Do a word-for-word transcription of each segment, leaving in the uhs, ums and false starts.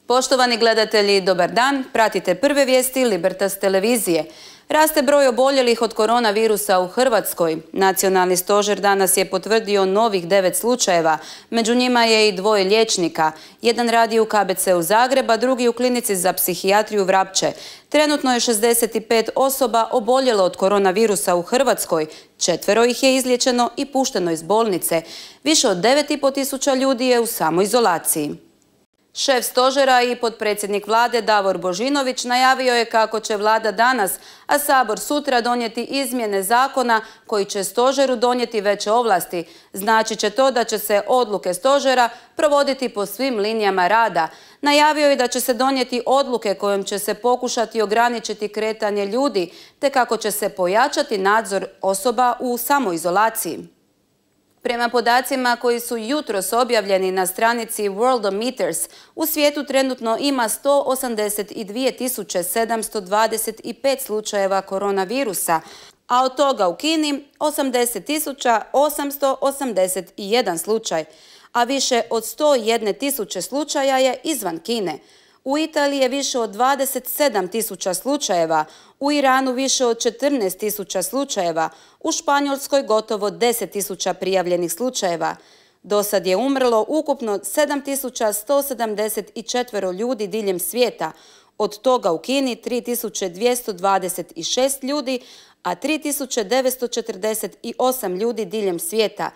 Poštovani gledatelji, dobar dan. Pratite prve vijesti Libertas televizije. Raste broj oboljelih od koronavirusa u Hrvatskoj. Nacionalni stožer danas je potvrdio novih devet slučajeva. Među njima je i dvoje liječnika. Jedan radi u K B C-u Zagreba, drugi u klinici za psihijatriju Vrapče. Trenutno je šezdeset pet osoba oboljelo od koronavirusa u Hrvatskoj. Četvero ih je izliječeno i pušteno iz bolnice. Više od devet i pol tisuća ljudi je u samoizolaciji. Šef stožera i potpredsjednik vlade Davor Božinović najavio je kako će vlada danas, a Sabor sutra donijeti izmjene zakona koji će stožeru donijeti veće ovlasti. Znači će to da će se odluke stožera provoditi po svim linijama rada. Najavio je da će se donijeti odluke kojom će se pokušati ograničiti kretanje ljudi, te kako će se pojačati nadzor osoba u samoizolaciji. Prema podacima koji su jutros objavljeni na stranici Worldometers, u svijetu trenutno ima sto osamdeset dvije tisuće sedamsto dvadeset pet slučajeva koronavirusa, a od toga u Kini osamdeset tisuća osamsto osamdeset jedan slučaj, a više od sto jedne tisuće slučaja je izvan Kine. U Italiji je više od dvadeset sedam tisuća slučajeva, u Iranu više od četrnaest tisuća slučajeva, u Španjolskoj gotovo deset tisuća prijavljenih slučajeva. Do sad je umrlo ukupno sedam tisuća sto sedamdeset četiri ljudi diljem svijeta, od toga u Kini tri tisuće dvjesto dvadeset šest ljudi, a tri tisuće devetsto četrdeset osam ljudi diljem svijeta.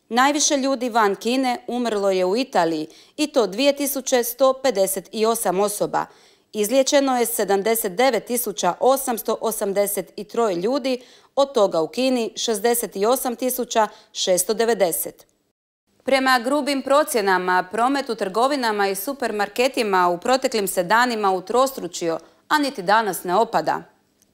Najviše ljudi van Kine umrlo je u Italiji i to dvije tisuće sto pedeset osam osoba. Izliječeno je sedamdeset devet tisuća osamsto osamdeset tri ljudi, od toga u Kini šezdeset osam tisuća šesto devedeset. Prema grubim procjenama, promet u trgovinama i supermarketima u proteklim se danima utrostručio, a niti danas ne opada.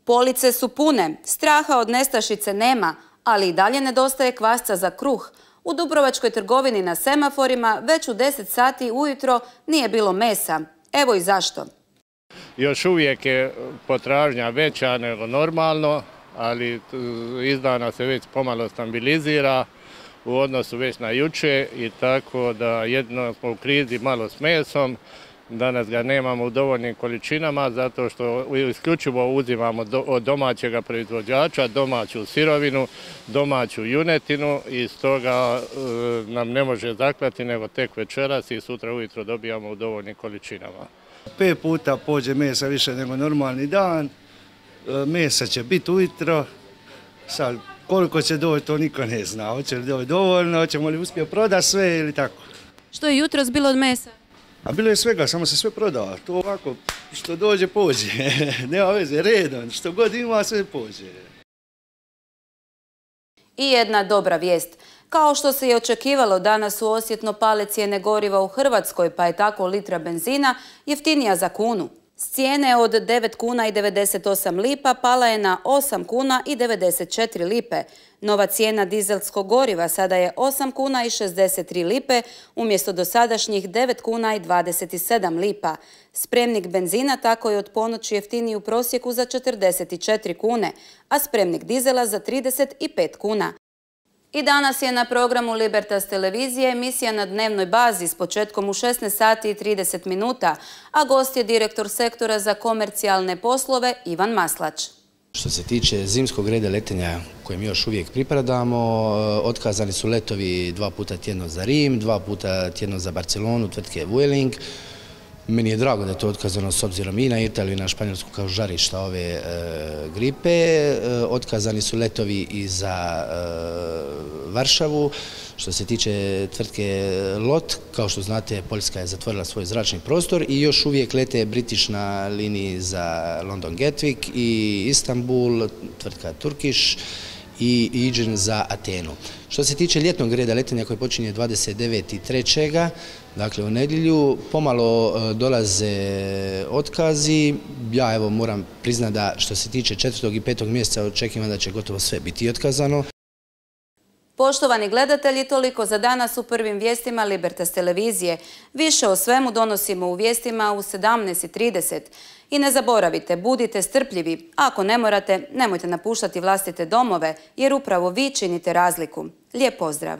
Police su pune, straha od nestašice nema, ali i dalje nedostaje kvasca za kruh. U dubrovačkoj trgovini na semaforima već u deset sati ujutro nije bilo mesa. Evo i zašto. Još uvijek je potražnja veća nego normalno, ali izdana se već pomalo stabilizira u odnosu već na juče i tako da jedno smo u krizi malo s mesom. Danas ga nemamo u dovoljnim količinama zato što isključivo uzimamo od domaćega proizvođača, domaću sirovinu, domaću junetinu i stoga nam ne može zaklati nego tek večeras i sutra ujutro dobijamo u dovoljnim količinama. Pet puta pođe mesa više nego normalni dan, mesa će biti ujutro, sad koliko će doći to niko ne zna, hoće li doći dovoljno, hoćemo li uspjeti prodati sve ili tako. Što je jutros bilo od mesa? A bilo je svega, samo se sve prodava. To ovako, što dođe, pođe. Nema veze, redom. Što god ima, sve pođe. I jedna dobra vijest. Kao što se je očekivalo, danas su osjetno pale cijene goriva u Hrvatskoj, pa je tako litra benzina jeftinija za kunu. S cijene od devet kuna i devedeset osam lipa pala je na osam kuna i devedeset četiri lipe. Nova cijena dizelskog goriva sada je osam kuna i šezdeset tri lipe umjesto dosadašnjih devet kuna i dvadeset sedam lipa. Spremnik benzina tako je od ponoći jeftiniji u prosjeku za četrdeset četiri kune, a spremnik dizela za trideset pet kuna. I danas je na programu Libertas televizije emisija na dnevnoj bazi s početkom u šesnaest sati i trideset minuta, a gost je direktor sektora za komercijalne poslove Ivan Maslać. Što se tiče zimskog reda letenja kojem još uvijek pripadamo, otkazani su letovi dva puta tjedno za Rim, dva puta tjedno za Barcelonu, tvrtke Vueling. Meni je drago da je to otkazano s obzirom i na Italiju i na Španjolsku kao žarišta ove e, gripe. E, otkazani su letovi i za e, Varšavu. Što se tiče tvrtke Lot, kao što znate, Poljska je zatvorila svoj zračni prostor i još uvijek lete British na liniji za London Gatwick i Istanbul, tvrtka Turkish i Aegean za Atenu. Što se tiče ljetnog reda letenja koji počinje dvadeset devetog trećega dakle u nedjelju, pomalo dolaze otkazi. Ja evo moram priznati da što se tiče četvrtog i petog mjeseca očekivam da će gotovo sve biti otkazano. Poštovani gledatelji, toliko za danas u prvim vijestima Libertas televizije. Više o svemu donosimo u vijestima u sedamnaest i trideset. I ne zaboravite, budite strpljivi. Ako ne morate, nemojte napuštati vlastite domove, jer upravo vi činite razliku. Lijep pozdrav!